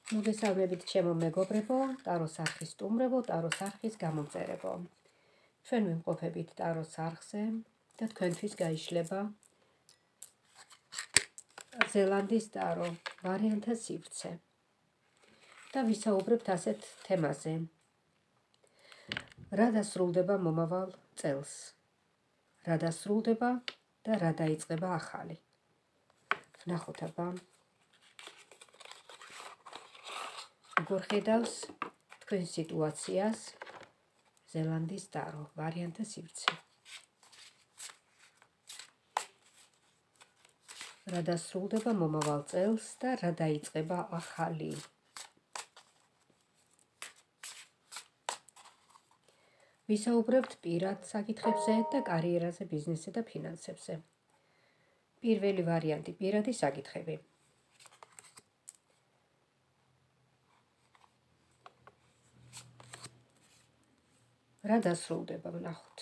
მოგესალმებით ჩემო მეგობრებო, ტაროს არხის სტუმრებო, ტაროს არხის გამომწერებო. ჩვენ ვიმყოფებით ტაროს არხზე და თქვენთვის გაიშლება ზელანდიის ტარო ვარიანტთა სივრცე. და ვისაუბრებთ ასეთ თემაზე. რა დასრულდება მომავალ წელს? რა დასრულდება და რა დაიწყება ახალი? ვნახოთ აბა. როგორ ხედავს თქვენ სიტუაციას ზელანდიის ტარო ვარიანტთა სივრცე. რა დასრულდება მომავალ წელს და რა დაიწყება ახალი? ვისაუბრებთ პირად საკითხებზე და კარიერაზე, ბიზნესზე და ფინანსებზე. პირველი ვარიანტი პირადი საკითხები. რა დასრულდება, ვნახოთ.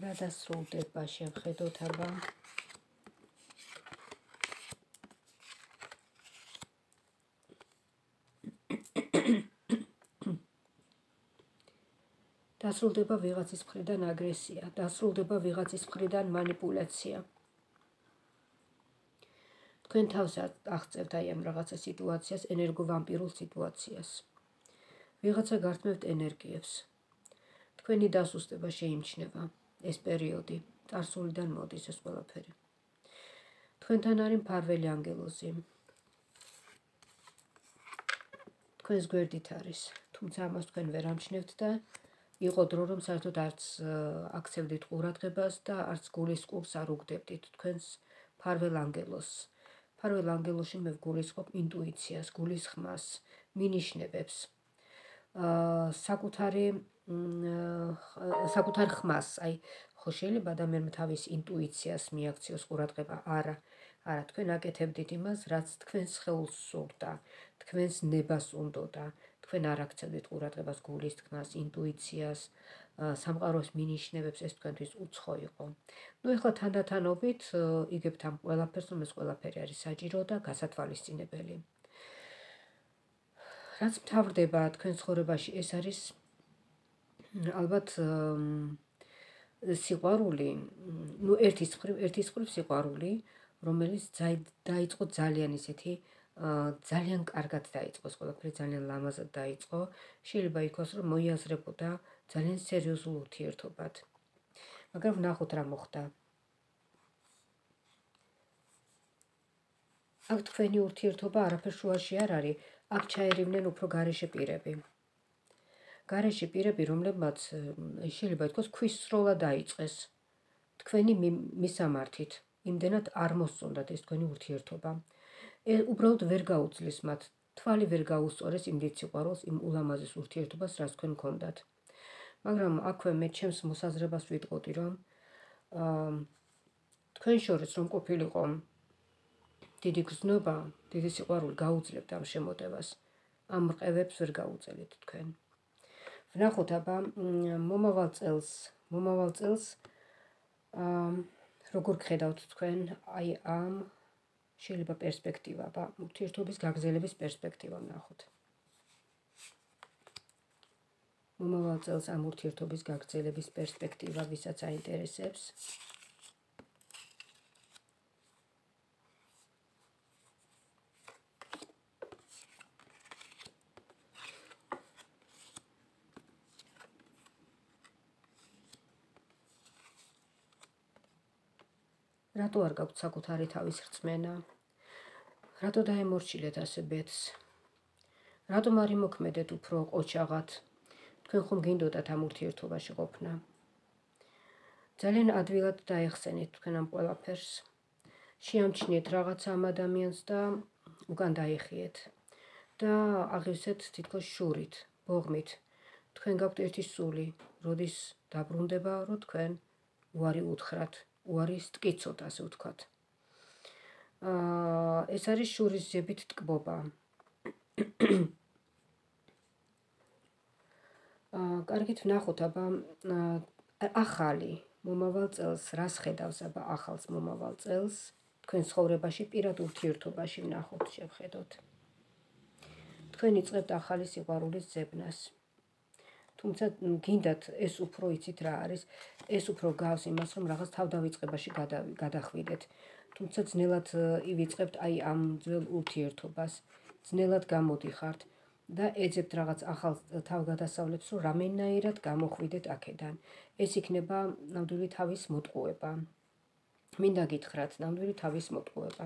რა დასრულდება, შევხედოთ აბა. დასრულდება ვიღაცის მხრიდან აგრესია, დასრულდება ვიღაცის მხრიდან მანიპულაცია. თქვენ თავს აღწევთ აი ამ რაღაცა სიტუაციას, ენერგოვამპირულ სიტუაციას. ვიღაცა გართმევთ ენერგიებს. თქვენი დასუსტება შეიმჩნევა ეს პერიოდი, წარსულიდან მოდის ეს ყველაფერი. თქვენთან არის მფარველი ანგელოზი. თქვენს გვერდით არის, თუმცა ამას თქვენ ვერ ამჩნევთ და იყო დრო, რომ საერთოდ არც აქცევდით ყურადღებას და არც გულისწყობს არ უგდებდით თქვენს მფარველ ანგელოზს. მფარველ ანგელოზში მე ვგულისხმობ ინტუიციას, გულისხმას, მინიშნებებს, საკუთარ ხმას, აი ხო შეიძლება ადამიანმა თავის ინტუიციას მიაქციოს ყურადღება, არა, თქვენ აკეთებდით იმას, რაც თქვენს სხეულს სურდა, თქვენს ნებას უნდოდა, თქვენ არ აქცევდით ყურადღებას გულის თქმას, ინტუიციას, სამყაროს მინიშნებებს, ეს თქვენთვის უცხო იყო. ნუ ეხლა თანდათანობით იგებთ ამ ყველაფერს, რომ ეს ყველაფერი არის საჭირო და გასათვალისწინებელი. რაც მთავრდება თქვენ ცხოვრებაში, ეს არის ალბათ სიყვარული, ნუ ერთის მხრივ სიყვარული, რომელიც დაიწყო ძალიან ისეთი ძალიან კარგად დაიწყო, ყველაფერი ძალიან ლამაზად დაიწყო, შეიძლება იქოს, რომ მოიაზრებოდა ძალიან სერიოზულ ურთიერთობად. მაგრამ ვნახოთ რა მოხდა. აქ თქვენი ურთიერთობა არაფერ შუაში არ არის, აქ ჩაერივნენ უფრო გარეშე პირები. გარეშე პირები, რომლებმაც შეიძლება ითქვას ქვის სროლა დაიწყეს თქვენი მისამართით, იმდენად არ მოსწონდათ ეს თქვენი ურთიერთობა. უბრალოდ ვერ გაუძლის მათ, თვალი ვერ გაუსწორეს იმ დიდ სიყვარულს, იმ ულამაზეს ურთიერთობას, რაც თქვენ გქონდათ. მაგრამ აქვე მე ჩემს მოსაზრებას ვიტყოდი, რომ თქვენ შორის რომ ყოფილიყო დიდი გზნობა, დიდი სიყვარული, გაუძლებთ ამ შემოტევას, ამ რყევებს ვერ გაუწელით თქვენ. ვნახოთ აბა მომავალ წელს როგორ გხედავთ თქვენ აი ამ შეიძლება პერსპექტივა, ურთიერთობის გაგრძელების პერსპექტივა ვნახოთ. მომავალ წელს ამ ურთიერთობის გაგრძელების პერსპექტივა ვისაც აინტერესებს. რატო არ გაქვთ საკუთარი თავის რწმენა? რატო დაემორჩილეთ ასე ბედს? რატომ არ იმოქმედეთ უფრო ყოჩაღად? თქვენ ხომ გინდოდათ ამ ურთიერთობაში ყოფნა? ძალიან ადვილად დაეხსენეთ თქვენ ამ ყველაფერს. შეამჩნიეთ რაღაცა ამ ადამიანს და უკან დაიხიეთ. და აღივსეთ თითქოს შურით, ბოღმით. თქვენ გაქვთ ერთი სული, როდის დაბრუნდება, რომ თქვენ უარი უთხრათ. უარი სტკიცოთ, ასე ვთქვათ. ეს არის შურის ზებით ტკბობა. კარგით ვნახოთ აბა ახალი მომავალ წელს, რას ხედავს აბა ახალს მომავალ წელს, თქვენ ცხოვრებაში, პირად ურთიერთობაში ვნახოთ, შევხედოთ. თქვენ იწყებთ ახალი სიყვარულის ძებნას. თუმცა გინდათ ეს უფრო იცით რა არის, ეს უფრო გავს იმას, რომ რაღაც თავდავიწყებაში გადახვიდეთ. თუმცა ძნელად ივიწყებთ აი ამ ძველ ურთიერთობას, ძნელად გამოდიხართ და ეძებთ რაღაც ახალ თავგადასავლებს, რომ რამენაირად გამოხვიდეთ აქედან. ეს იქნება ნამდვილი თავის მოტყუება. მინდა გითხრათ, ნამდვილი თავის მოტყუება.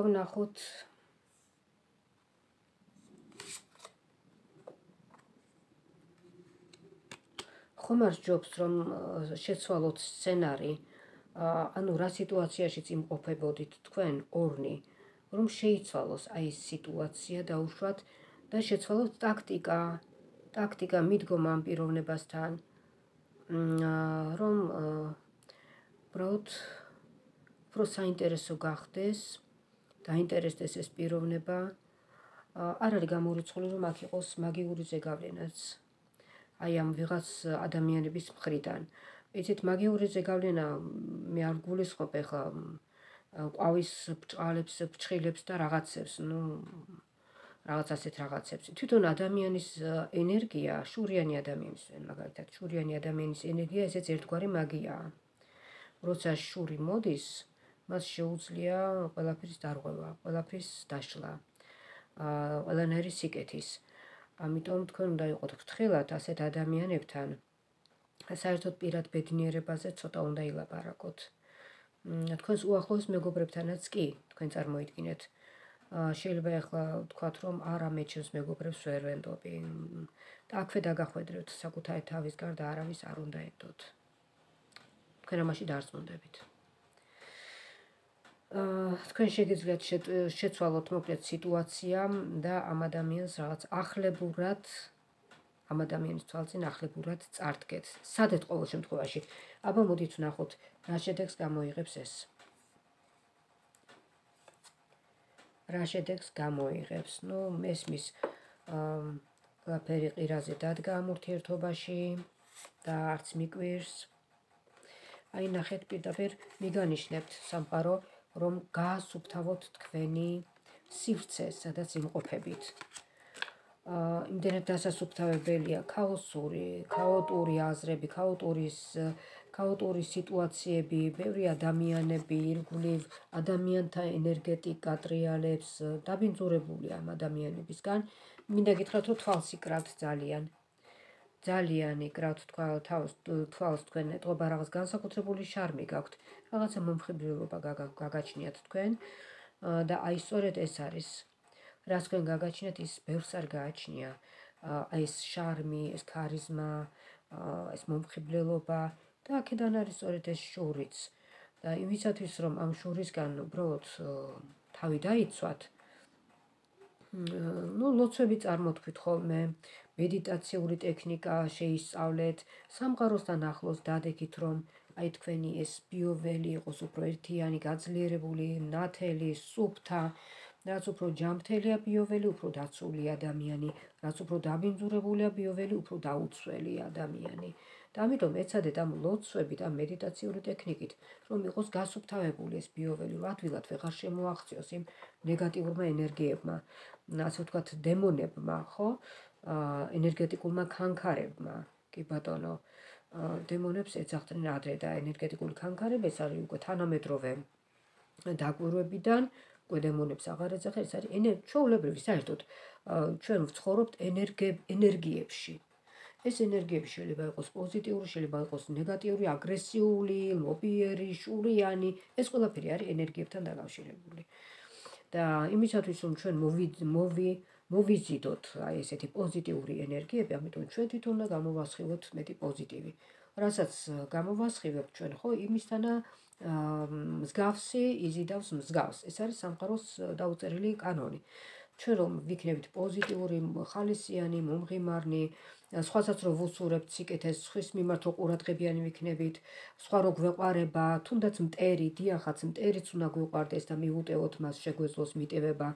ვნახოთ ხომ არ სჯობს, რომ შეცვალოთ სცენარი, ანუ რა სიტუაციაში იმყოფებოდით თქვენ ორნი, რომ შეიცვალოს აი ეს სიტუაცია დაუშვათ და შეცვალოთ ტაქტიკა მიდგომა ამ პიროვნებასთან, რომ უბრალოდ უფრო საინტერესო გახდეს, დაინტერესდეს ეს პიროვნება. არ არის გამორიცხული, რომ აქ იყოს მაგიური ზეგავლენაც. აი ამ ვიღაც ადამიანების მხრიდან. იცით, მაგიური ზეგავლენა მე არ გულისხმობ ეხლა ყვავის ბრჭყალებს, ფრჩხილებს და რაღაცებს, რაღაც ასეთ რაღაცებს. თვითონ ადამიანის ენერგია, შურიანი ადამიანის, მაგალითად, შურიანი ადამიანის ენერგია ესეც ერთგვარი მაგიაა. როცა შური მოდის, მას შეუძლია ყველაფრის დარღვევა, ყველაფრის დაშლა, ყველანაირი სიკეთის. ამიტომ თქვენ უნდა იყოთ ფრთხილად ასეთ ადამიანებთან. საერთოდ პირად ბედნიერებაზე ცოტა უნდა ilabaragot. თქვენს უახლოეს მეგობრებთანაც კი, თქვენ წარმოიდგინეთ. შეიძლება ახლა ვთქვათ, რომ არა მე ჩემს მეგობრებს ვერ ვენდობი. და აქვე დაგახვედრებთ საკუთარი თავის გარდა არავის არ უნდა ენდოთ. თქვენ ამაში დარწმუნდებით. თქვენ შეგიძლიათ შეცვალოთ მოკლედ სიტუაცია და ამ ადამიანს რაღაც ახლებურად, ამ ადამიანის თვალწინ ახლებურად წარდგეთ. სადეთ ყოველ შემთხვევაში. აბა მოდით ვნახოთ, რა შედეგს გამოიღებს ეს. რა შედეგს გამოიღებს? მესმის ყველაფერი ყირაზე დადგა ამ ურთიერთობაში და არც მიკვირს. აი ნახეთ, პირდაპირ მიგანიშნებთ სამყარო, რომ გაასუფთავოთ თქვენი სივრცე, სადაც იმყოფებით. იმდენად დასასუფთავებელია ქაოტური აზრები, ქაოტური სიტუაციები, ბევრი ადამიანები, ირგვლივ ადამიანთა ენერგეტიკა ტრიალებს, დაბინძურებული ამ ადამიანებისგან. მინდა გითხრათ, რომ თვალს იკრავთ ძალიან იკრავთ თვალს თქვენ, ეტყობა რაღაც განსაკუთრებული შარმი გაქვთ, რაღაცა მომხიბვლელობა გაგაჩნიათ თქვენ და აი სწორედ ეს არის. რაც თქვენ გაგაჩნიათ, ის ბევრს არ გააჩნია. აი ეს შარმი, ეს ქარიზმა, ეს მომხიბვლელობა და აქედან არის სწორედ ეს შურიც. და იმისათვის, რომ ამ შურისგან უბრალოდ თავი დაიცვათ, ლოცვები წარმოთქვით ხოლმე, მედიტაციური ტექნიკა შეისწავლეთ, სამყაროსთან ახლოს დადექით, რომ აი თქვენი ეს ბიოველი იყოს უფრო ერთიანი, გაძლიერებული, ნათელი, სუფთა, რაც უფრო ჯანმრთელია ბიოველი, უფრო დაცული ადამიანი, რაც უფრო დაბინძურებულია ბიოველი, უფრო დაუცველი ადამიანი. და ამიტომ ეცადეთ ამ ლოცვებით, ამ მედიტაციური ტექნიკით, რომ იყოს გასუფთავებული ეს ბიოველი, ადვილად ვეღარ შემოაღწიოს იმ ნეგატიურმა ენერგიებმა, ასე ვთქვათ, დემონებმა, ხო? ენერგეტიკულმა ქანქარებმა, კი ბატონო, დემონებს ეძახდნენ ადრე და ენერგეტიკული ქანქარები ეს არის უკვე თანამედროვე დაკვირვებიდან, უკვე დემონებს აღარ ეძახა, ეს არის ჩვეულებრივი საერთოდ ჩვენ ვცხოვრობთ ენერგიებში. ეს ენერგიები შეიძლება იყოს პოზიტიური, შეიძლება იყოს ნეგატიური, აგრესიული, ლობიერი, შურიანი, ეს ყველაფერი არის ენერგიებთან დაკავშირებული. და იმისათვის, რომ ჩვენ მოვიზიდოთ აი ესეთი პოზიტიური ენერგიები, ამიტომ ჩვენ თვითონ უნდა გამოვასხივოთ მეტი პოზიტივი. რასაც გამოვასხივებთ ჩვენ, ხო, იმისთანა მსგავსი იზიდავს მსგავს. ეს არის სამყაროს დაუწერელი კანონი. ჩვენ რომ ვიქნებით პოზიტიური, ხალისიანი, მომღიმარნი, სხვასაც რომ ვუსურებთ სიკეთეს, სხვის მიმართ რომ ყურადღებიანი ვიქნებით, სხვა რო გვეყარება, თუნდაც მტერი, დიახაც მტერიც უნდა გვეყარდეს და მივუტევოთ მას, შეგვეძლოს მიტევება,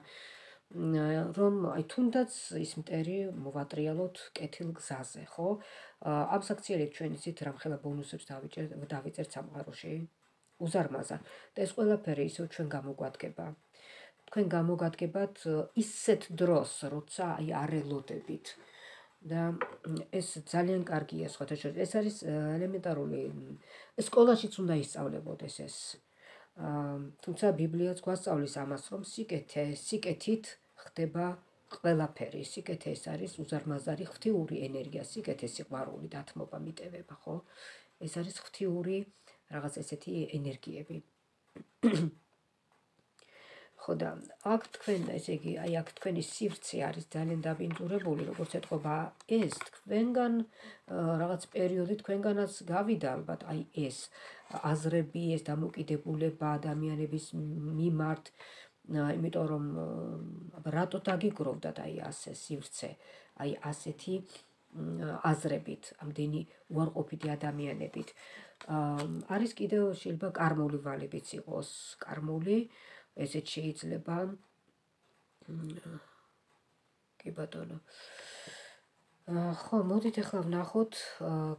რომ აი თუნდაც ის მტერი მოვატრიალოთ კეთილ გზაზე, ხო? ამ საქციელით ჩვენ იცით რამხელა ბონუსებს დავიწერთ სამყაროში. უზარმაზარ. და ეს ყველაფერი ისევ ჩვენ გამოგვადგება. თქვენ გამოგადგებათ ისეთ დროს, როცა აი არ ელოდებით. და ეს ძალიან კარგია სხვათა შორის. ეს არის ელემენტარული. სკოლაშიც უნდა ისწავლებოდეს ეს. თუმცა ბიბლიაც გვასწავლის ამას, რომ სიკეთით ხდება ყველაფერი. სიკეთე ეს არის უზარმაზარი ღვთიური ენერგია, სიკეთე, სიყვარული, დათმობა, მიტევება, ხო? ეს არის ღვთიური რაღაც ესეთი ენერგიები. ხო და აქ თქვენ, ესე იგი, აი აქ თქვენი სივრცე არის ძალიან დაბინძურებული, როგორც ეთყობა ეს თქვენგან რაღაც პერიოდი თქვენგანაც გავიდა ალბათ აი ეს აზრები, ეს დამოკიდებულება ადამიანების მიმართ, იმიტომ რომ რატო დაგიგროვდათ აი ასე სივრცე, აი ასეთი აზრებით, ამდენი უარყოფითი ადამიანებით. არის კიდევ შეიძლება კარმული ვალებიც იყოს, კარმული ესეც შეიძლება. კი ბატონო. ხო, მოდით ახლა ვნახოთ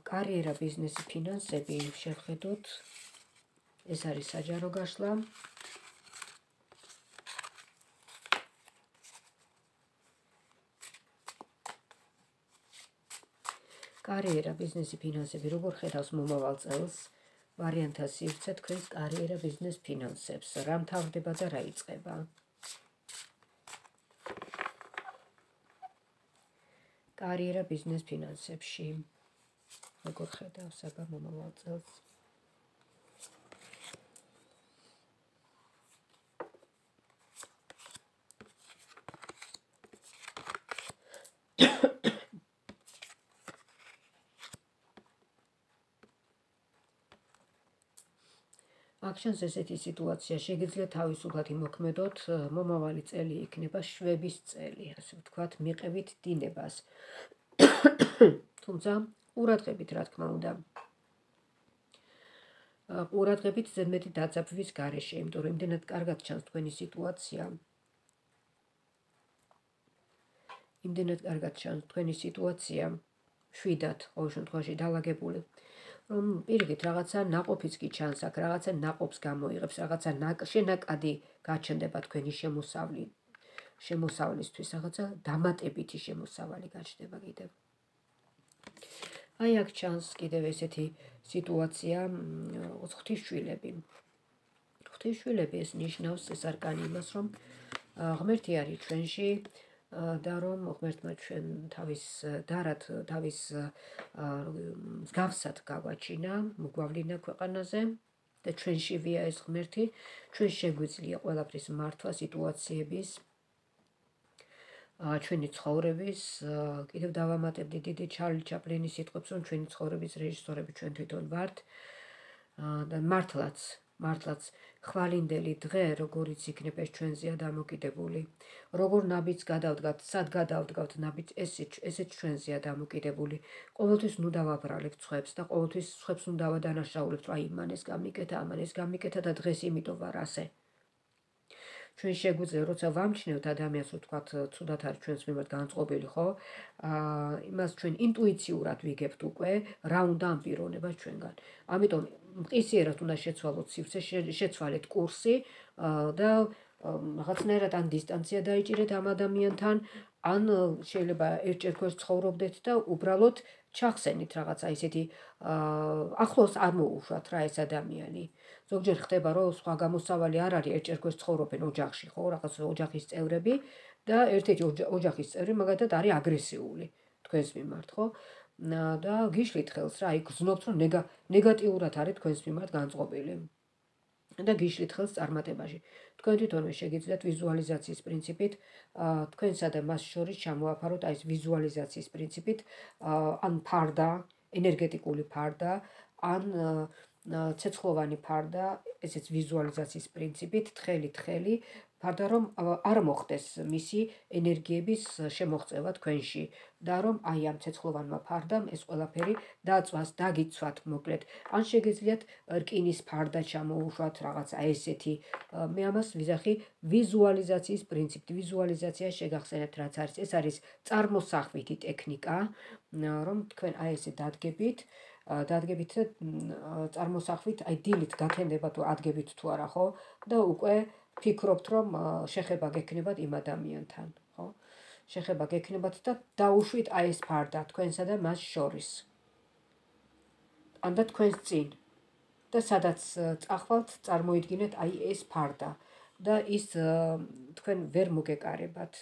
კარიერა, ბიზნესი, ფინანსები, შევხედოთ. ეს არის საჯარო გაშლა. კარიერა, ბიზნესი, ფინანსები, როგორ ხედავს მომავალ წელს? ვარიანტა სივრცე თქვენს კარიერა, ბიზნეს, ფინანსებს. რა მთავრდება და რა იწყება? კარიერა, ბიზნეს, ფინანსებში. როგორ ხედავს აბა მომავალ წელს? აქ შენს ესეთი სიტუაცია შეგიძლიათ თავისუფლად იმოქმედოთ, მომავალი წელი იქნება შვების წელი, ასე ვთქვათ, მიყევით დინებას. თუმცა ყურადღებით, რა თქმა უნდა. ყურადღებით ზედმეტი დაძაბვის გარეშე, იმიტომ რომ იმდენად კარგად ჩანს თქვენი სიტუაცია. შვიდათ, ყოველ შემთხვევაში დავაგებული. რომ პირიქით რაღაცა ნაყოფიც კი ჩანს აქ, რაღაცა ნაყოფს გამოიღებს, რაღაცა შენაკადი გაჩნდება თქვენი შემოსავლისთვის, რაღაცა დამატებითი შემოსავალი გაჩნდება კიდევ. აი აქ ჩანს კიდევ ესეთი სიტუაცია, ღვთისშვილები. ღვთისშვილები ეს ნიშნავს ეს არკანი იმას, რომ ღმერთი არის ჩვენში და რომ ღმერთმა ჩვენ თავის მსგავსად გავაჩინა, მოგვავლინა ქვეყანაზე და ჩვენშივია ეს ღმერთი, ჩვენ შეგვიძლია ყველაფრის მართვა, სიტუაციების, ჩვენი ცხოვრების, კიდევ დავამატებდი დიდი ჩარლი ჩაპლინის სიტყვებს, რომ ჩვენი ცხოვრების რეჟისორები ჩვენ თვითონ ვართ და მართლაც ხვალინდელი დღე, როგორიც იქნება ეს ჩვენზეა დამოკიდებული. როგორ ნაბიჯს გადავდგათ, სად გადავდგავთ ნაბიჯს, ესეც ჩვენზეა დამოკიდებული. ყოველთვის ნუ დავაბრალებთ ხვებს და ყოველთვის ხვებს ნუ დავადანაშაულებთ, აი მან ეს გამიკეთა, ამან ეს გამიკეთა და დღეს იმიტომ ვარ ასე. ჩვენ შეგვიძლია, როცა ვამჩნევთ ადამიანს, ვთქვათ, ცუდად არის ჩვენს მიმართ განწყობილი, ხო? იმას ჩვენ ინტუიციურად ვიგებთ უკვე, რა უნდა ამ პიროვნებას ჩვენგან. ამიტომ მყისიერად უნდა შეცვალოთ სივრცე, შეცვალეთ კურსი და რაღაცნაირად ან დისტანცია დაიჭირეთ ამ ადამიანთან, ან შეიძლება ერთჯერ ქვეს ცხოვრობდეთ და უბრალოდ ჩახსენით რაღაცა ისეთი ახლოს არ მოუშვათ რა ეს ადამიანი. ზოგჯერ ხდება, რომ სხვა გამოსავალი არ არის, ერთჯერ ქვეს ცხოვრობენ ოჯახში, ხო, რაღაც ოჯახის წევრები და ერთ-ერთი ოჯახის წევრი მაგათად არის აგრესიული თქვენს მიმართ, ხო? და გიშლით ხელს რა, იქ გზნობთ, რომ ნეგატიურად არის თქვენს მიმართ განწყობილი. და გიშლით ხელს წარმატებაში. თქვენ თვითონვე შეგიძლიათ ვიზუალიზაციის პრინციპით თქვენსა და მას შორის ჩამოაფაროთ აი ეს ვიზუალიზაციის პრინციპით ან ფარდა, ენერგეტიკული ფარდა, ან ცეცხლოვანი ფარდა, ესეც ვიზუალიზაციის პრინციპით, თხელი ფარდა, რომ არ მოხდეს მისი ენერგიების შემოღწევა თქვენში და რომ აი ამ ცეცხლოვანმა ფარდამ ეს ყველაფერი დაწვას, დაგიცვათ, მოკლედ. ან შეგიძლიათ რკინის ფარდა ჩამოუშვათ, რაღაცა ესეთი. მე ამას ვიზახი ვიზუალიზაციის პრინციპით. ვიზუალიზაცია შეგახსენებთ, რაც არის. ეს არის წარმოსახვითი ტექნიკა, რომ თქვენ აი ესე დადგებით და წარმოსახვით, აი დილით გაქენდება თუ ადგებით თუ არა, ხო? და უკვე ფიქრობთ, რომ შეხება გექნებათ იმ ადამიანთან, ხო? შეხება გექნებათ და დაუშვით აი ეს ფარდა თქვენსა და მას შორის. ან და თქვენს წინ. და სადაც წახვალთ, წარმოიდგინეთ აი ეს ფარდა და ის თქვენ ვერ მოგეკარებათ.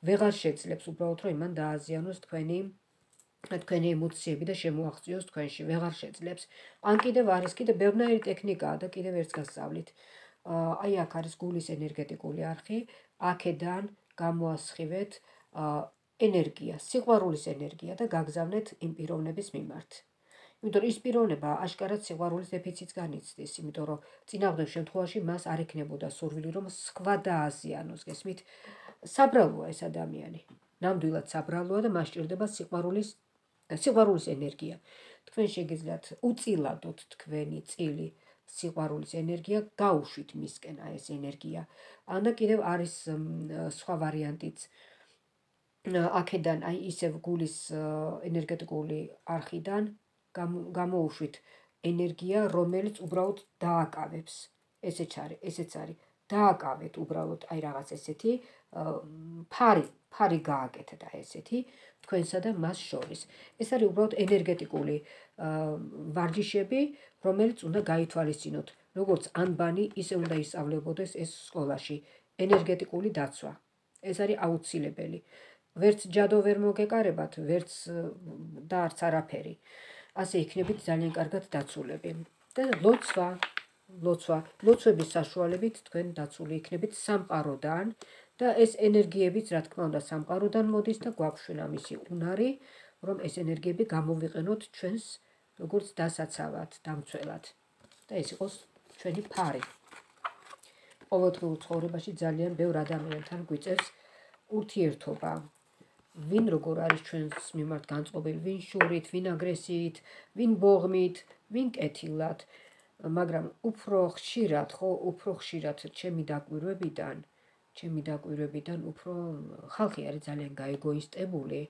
ვეღარ შეძლებს უბრალოდ რომ იმან დააზიანოს თქვენი ემოციები და შემოაღწიოს თქვენში, ვეღარ შეძლებს. ან კიდევ არის კიდევ ბევრნაირი ტექნიკაა და კიდევ ერთს გასწავლით. აი აქ არის გულის ენერგეტიკული არხი, აქედან გამოასხივეთ ენერგია, სიყვარულის ენერგია და გაგზავნეთ იმ პიროვნების მიმართ. იმიტომ ის პიროვნება აშკარად სიყვარულის დეფიციტს განიცდის, იმიტომ რომ წინააღმდეგ შემთხვევაში მას არ ექნებოდა სურვილი რომ სხვა დააზიანოს, გესმით? საბრალოა ეს ადამიანი. ნამდვილად საბრალოა და მას სჭირდება სიყვარულის ენერგია. თქვენ შეგიძლიათ უწილადოთ თქვენი წილი სიყვარულის ენერგია, გაუშვით მისკენ აი ეს ენერგია. ან და კიდევ არის სხვა ვარიანტიც. აქედან აი ისევ გულის ენერგეტიკული არხიდან გამოუშვით ენერგია, რომელიც უბრალოდ დააკავებს. ესეც არის. დააკავეთ უბრალოდ აი რაღაც ესეთი ფარი გააკეთეთ აი ესეთი თქვენსა და მას შორის. ეს არის უბრალოდ ენერგეტიკული ვარჯიშები, რომელიც უნდა გაითვალისწინოთ. როგორც ანბანი, ისე უნდა ისწავლებოდეს ეს სკოლაში. ენერგეტიკული დაცვა. ეს არის აუცილებელი. ვერც ჯადო ვერ მოგეკარებათ, ვერც და არც არაფერი. ასე იქნებით ძალიან კარგად დაცულები. და ლოცვების საშუალებით თქვენ დაცული იქნებით სამყაროდან და ეს ენერგიებიც, რა თქმა უნდა, სამყაროდან მოდის და გვაქვს ამისი უნარი, რომ ეს ენერგიები გამოვიყენოთ ჩვენს როგორც დასაცავად, დამცველად. და ეს იყოს ჩვენი ფარი. ყოველდღიურ ცხოვრებაში ძალიან ბევრ ადამიანთან გვიწევს ურთიერთობა. ვინ როგორ არის ჩვენს მიმართ განწყობილი, ვინ შურით, ვინ აგრესიით, ვინ ბოღმით, ვინ კეთილად, მაგრამ უფრო ხშირად ჩემი დაკვირვებიდან უფრო ხალხი არის ძალიან გაეგოისტებული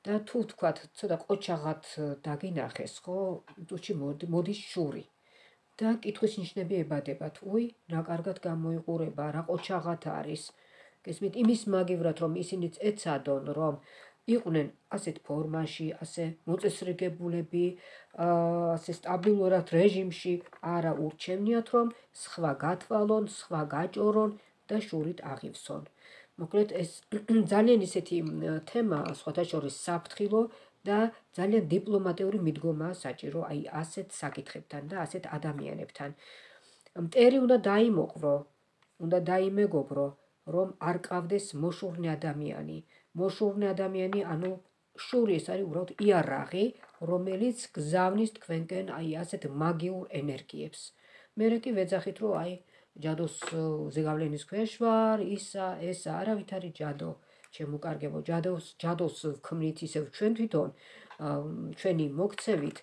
და თუ ვთქვათ, ცოტა ყოჩაღად დაგინახეს, ხო, თუჩი მოდის შური და კითხვის ნიშნები ებადებათ, უი, რა კარგად გამოიყურება, რა ყოჩაღად არის. გესმით, იმის მაგივრად რომ ისინიც ეცადონ რომ იყვნენ ასეთ ფორმაში, ასე მოწესრიგებულები, ასე სტაბილურად რეჟიმში, არა ურჩევნიათ რომ სხვა გათვალონ, სხვა გაჭორონ და შურით აღივსონ. მოკლედ ეს ძალიან ისეთი თემაა, სხვათა შორის საფრთხილო და ძალიან დიპლომატიური მიდგომაა საჭირო აი ასეთ საკითხებთან და ასეთ ადამიანებთან. მტერი უნდა დაიმეგობრო, რომ არ ყავდეს მოშურნე ადამიანი. მოშურნე ადამიანი, ანუ შური ეს არის უბრალოდ იარაღი, რომელიც გზავნის თქვენკენ აი ასეთ მაგიურ ენერგიებს. მერე კი ვეძახით, რომ აი ჯადოს ზეგავლენის ქვეშ ვარ, ესა, არავით არის ჯადო. შემოკარგებო, ჯადოს ვქმნით ისევ ჩვენ თვითონ, ჩვენი მოქცევით,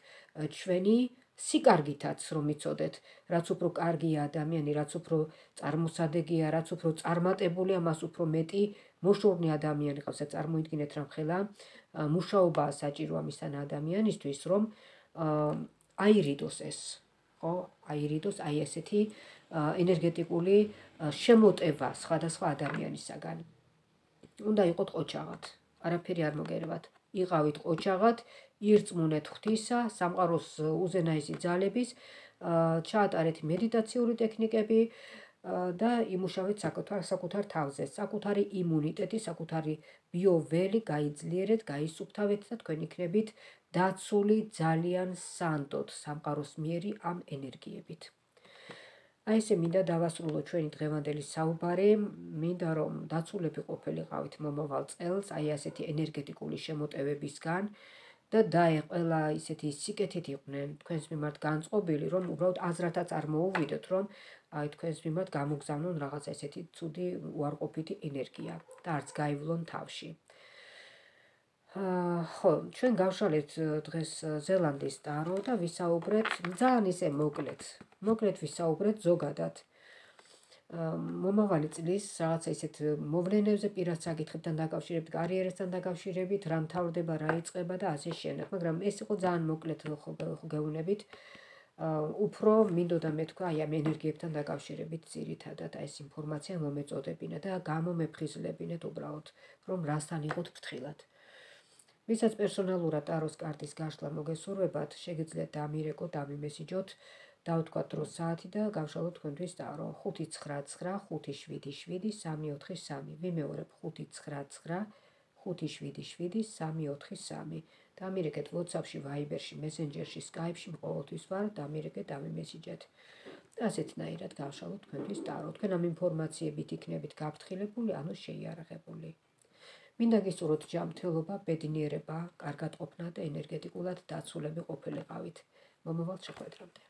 ჩვენი სიკარგითაც რომ იცოდეთ, რაც უფრო კარგია ადამიანი, რაც უფრო წარმოსადეგია, რაც უფრო წარმატებულია, მას უფრო მეტი მოშურნე ადამიანი ყავს. წარმოიდგინეთ რა ხელა მუშაობაა საჭირო ამისთან ადამიანისთვის, რომ აირიდოს ეს, ხო? აირიდოს აი ესეთი ენერგეტიკული შემოტევა სხვადასხვა ადამიანისაგან. უნდა იყოთ ყოჩაღად, არაფერი არ მოგერებათ. იყავით ყოჩაღად, ირწმუნეთ ღვთისა, სამყაროს უზენაესი ძალების, ჩაატარეთ მედიტაციური ტექნიკები და იმუშავეთ საკუთარ თავზე, საკუთარი იმუნიტეტი, საკუთარი ბიოველი გაიძლიერეთ, გაისუფთავეთ და თქვენ იქნებით დაცული ძალიან სანდოდ სამყაროს მიერი ამ ენერგიებით. აი ესე მინდა დავასრულო ჩვენი დღევანდელი საუბარი, მინდა რომ დაცულები ყოფილიყავით მომავალ წელს, აი ასეთი ენერგეტიკული შემოტევებისგან და ყველა ისეთი სიკეთით იყვნენ თქვენს მიმართ განწყობილი, რომ უბრალოდ აზრათაც არ მოუვიდოთ, რომ აი თქვენს მიმართ გამოგზავნონ რაღაცა ესეთი ცუდი უარყოფითი ენერგია და არც გაივლონ თავში. ხო, ჩვენ გავშალეთ დღეს ზელანდიის ტარო და ვისაუბრეთ ძალიან ისე მოკლედ ვისაუბრეთ ზოგადად მომავალი წლის რაღაცა ისეთ მოვლენებზე, პირად საკითხებთან დაკავშირებით, კარიერასთან დაკავშირებით, რა მთავრდება, რა იწყება და ასე შემდეგ, მაგრამ ეს იყო ძალიან მოკლედ გეუბნებით. უფრო მინდოდა მეთქვა აი ამ ენერგიებთან დაკავშირებით ძირითადად აი ეს ინფორმაცია მომეწოდებინა და გამომეფხიზლებინეთ უბრალოდ, რომ რასთან იყოთ ფრთხილად. ვისაც პერსონალურად ტაროს კარტის გაშლა მოგესურვებათ, შეგიძლიათ დამირეკოთ, დამიმესიჯოთ, დავთქვათ დროს საათი და გავშალოთ თქვენთვის ტარო 599577343. ვიმეორებ 599577343. დამირეკეთ WhatsApp-ში, Viber-ში, Messenger-ში, Skype-ში, ყოველთვის ვარ, დამირეკეთ, დამიმესიჯეთ. ასეთნაირად გავშალოთ თქვენთვის ტარო. თქვენ ამ ინფორმაციებით იქნებით გაფრთხილებული, ანუ შეიარაღებული. მინდა გისურვოთ ჯანმრთელობა, ბედნიერება, კარგად ყოფნა და ენერგეტიკულად დაცულები ყოფილიყავით. მომავალ შეხვედრამდე.